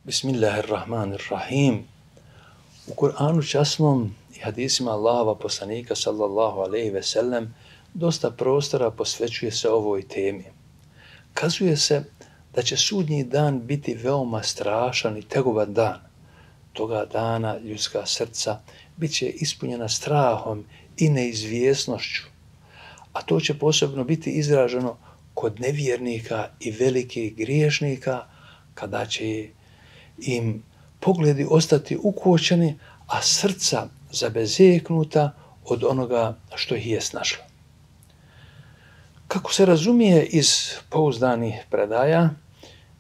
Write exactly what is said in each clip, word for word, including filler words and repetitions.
Bismillahirrahmanirrahim. U Kur'anu časnom i hadisima Allahova poslanika sallallahu alejhi ve sellem dosta prostora posvećuje se ovoj temi. Kazuje se da će sudnji dan biti veoma strašan i tegoban dan. Toga dana ljudska srca bit će ispunjena strahom i neizvjesnošću, a to će posebno biti izraženo kod nevjernika i velikih griješnika, kada će im pogledi ostati ukočeni, a srca zabezeknuta od onoga što ih je snašlo. Kako se razumije iz pouzdanih predaja,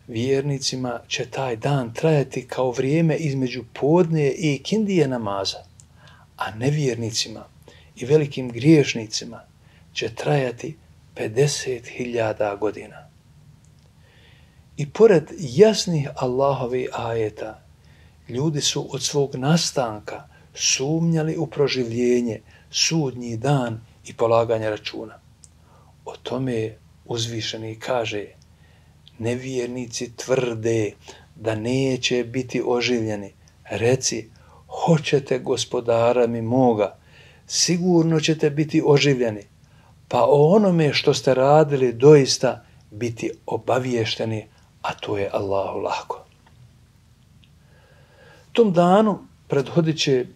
vjernicima će taj dan trajati kao vrijeme između podne i ikindije namaza, a nevjernicima i velikim griješnicima će trajati pedeset hiljada godina. I pored jasnih Allahovih ajeta, ljudi su od svog nastanka sumnjali u proživljenje, sudnji dan i polaganje računa. O tome uzvišeni kaže: nevjernici tvrde da neće biti oživljeni. Reci: hoćete gospodara mi moga, sigurno ćete biti oživljeni, pa o onome što ste radili doista biti obaviješteni, a to je Allahu lako. Tom danu prethodit će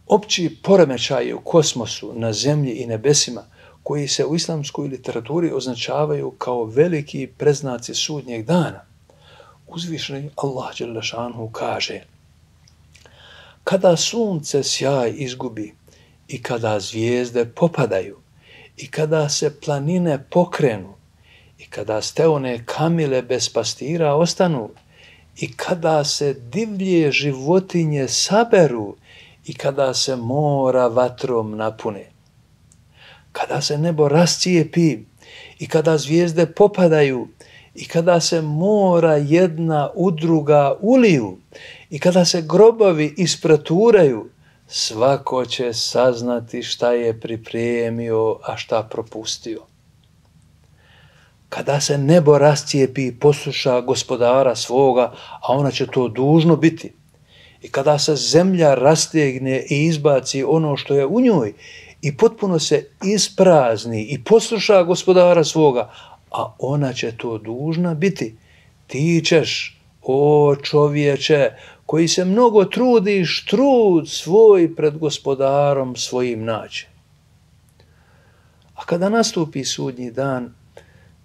opći poremećaji u kosmosu, na zemlji i nebesima, koji se u islamskoj literaturi označavaju kao veliki preznaci sudnjeg dana. Uzvišeni Allah dželle šanuhu kaže: kada sunce sjaj izgubi i kada zvijezde popadaju i kada se planine pokrenu i kada steone kamile bez pastira ostanu i kada se divlje životinje saberu i kada se mora vatrom napune, kada se nebo rascijepi i kada zvijezde popadaju i kada se mora jedna u druga uliju i kada se grobovi ispreturaju, svako će saznati šta je pripremio, a šta propustio. Kada se nebo rascijepi i posluša gospodara svoga, a ona će to dužno biti, i kada se zemlja rastegne i izbaci ono što je u njoj i potpuno se isprazni i posluša gospodara svoga, a ona će to dužna biti, ti ćeš, o čovječe, koji se mnogo trudiš, trud svoj pred gospodarom svojim naći. A kada nastupi sudnji dan,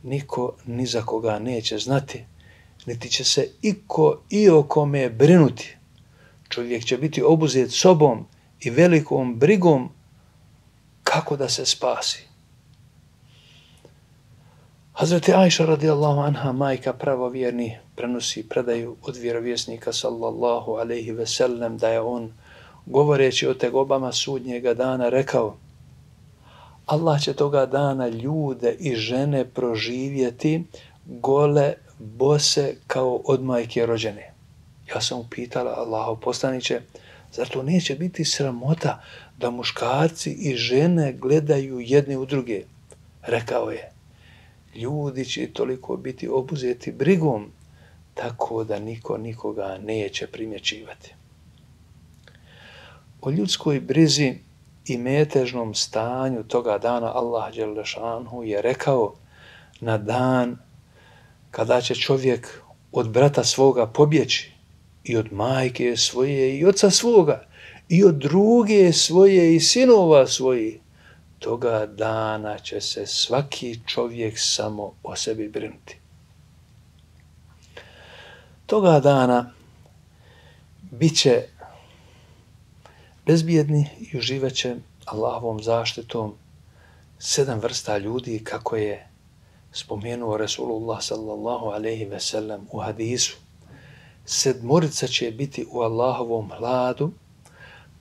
niko ni za koga neće znati, niti će se iko i o kome brinuti. Čovjek će biti obuzet sobom i velikom brigom kako da se spasi. Hazreti Ajša radijallahu anha, majka pravovjerni, prenosi predaju od vjerovjesnika sallallahu alejhi ve sellem da je on, govoreći o tegobama sudnjega dana, rekao: Allah će toga dana ljude i žene proživjeti gole, bose kao od majke rođene. Ja sam upitala: Allahov poslaniće, zar to neće biti sramota da muškarci i žene gledaju jedni u druge? Rekao je: ljudi će toliko biti obuzeti brigom, tako da niko nikoga neće primjećivati. O ljudskoj brizi i metežnom stanju toga dana Allah dželle šanuhu je rekao: na dan kada će čovjek od brata svoga pobjeći, i od majke svoje i oca svoga, i od druge svoje i sinova svojih, toga dana će se svaki čovjek samo o sebi brinuti. Toga dana bit će bezbjedni i uživat će Allahovom zaštitom sedam vrsta ljudi, kako je spomenuo Resulullah sallallahu alejhi ve sellem u hadisu. Sedmorica će biti u Allahovom hladu,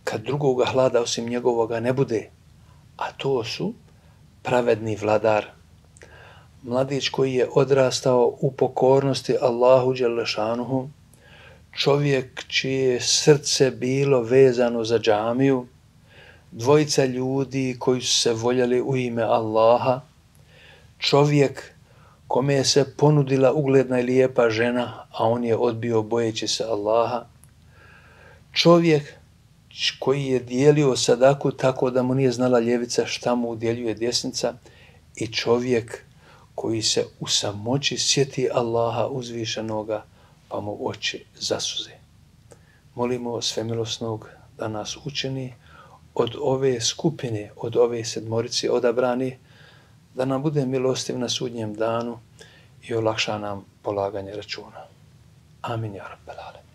kad drugoga hlada osim njegovoga ne bude, a to su pravedni vladar, mladić koji je odrastao u pokornosti Allahu dželle šanuhu, čovjek čije srce bilo vezano za džamiju, dvojica ljudi koji su se voljeli u ime Allaha, čovjek kome se ponudila ugledna i lijepa žena, a on je odbio bojeći se Allaha, čovjek koji je dijelio sadaku tako da mu nije znala ljevica šta mu udjeljuje desnica, i čovjek koji se u samoći sjeti Allaha uzvišenoga pa mu oči zasuze. Molimo Svemilosnog da nas učini od ove skupine, od ove sedmorice odabrani, da nam bude milostiv na sudnjem danu i olakša nam polaganje računa. Amin, ja rabbel alemin.